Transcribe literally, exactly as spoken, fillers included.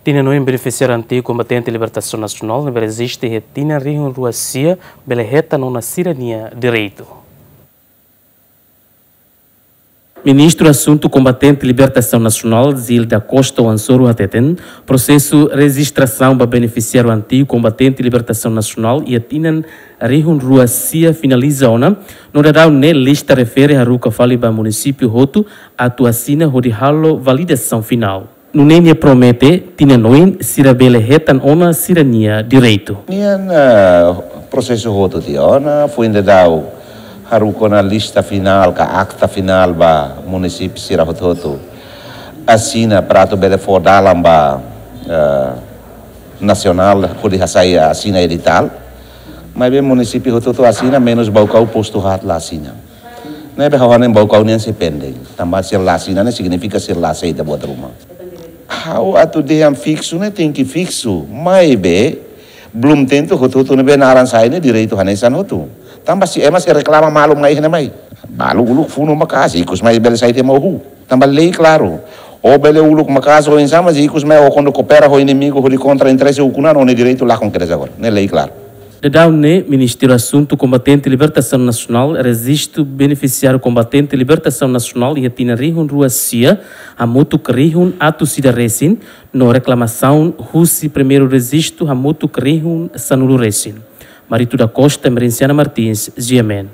Tinan oin benefisiáriu antigu kombatente libertasaun nasionál ne'ebé rejista iha tinan rihun rua sia bele hetan ona sira-nia direitu. Ministru Asuntu Kombatente Libertasaun Nasionál, Gil da Costa Wansoru hateten, prosesu rejistrasaun ba benefisiáriu antigu kombatente libertasaun nasionál iha tinan rihun rua sia finaliza ona, no daudaun ne'e lista refere haruka fali ba munisípiu hotu atu asina hodi halo validasaun finál. Nune'e nia promete, tinan oin sira bele hetan ona sira-nia direitu. Nian, eh, prosesu hotu tiha ona, foin daudaun haruka ona lista finál ka akta finál ba munisípiu sira hotu-hotu asina para atu bele fó dalan ba, eh, nasionál hodi hasai asina editál. Maibé munisípiu hotu-hotu asina, menus Baucau postu haat la asina. Ne'ebé ha'u hanoin Baucau nian sei pending. Tanba sira la asina ne'e signifika sira la aseita buat ruma. Ha'u atu dehan fiksu ne'e tenke fiksu. Maibé belum tentu hotu-hotu ne'ebé naran sai ne'e direitu hanesan hotu. Tanba se ema sei reklama malu mai ne'e mai. Balu uluk funu maka'as, ikus mai bele sai tiha mak oho. Tanba lei klaru. Ó bele uluk maka'as oinsá, mas ikus mai ó kuandu koopera ho inimigu hodi kontra interese ukun-an, ó-nia direitu lakon kedas agora. Ne'e lei klaru. Daudaun ne'e Ministériu Asuntu Kombatente Libertasaun Nasionál rejistu benefisiáriu kombatente libertasaun nasionál iha tinan rihun rua sia hamutuk rihun atus ida resin, no reklamasaun husi primeiru rejistu hamutuk rihun sanulu resin. Marito da Costa, Emerenciana Martins, G M N.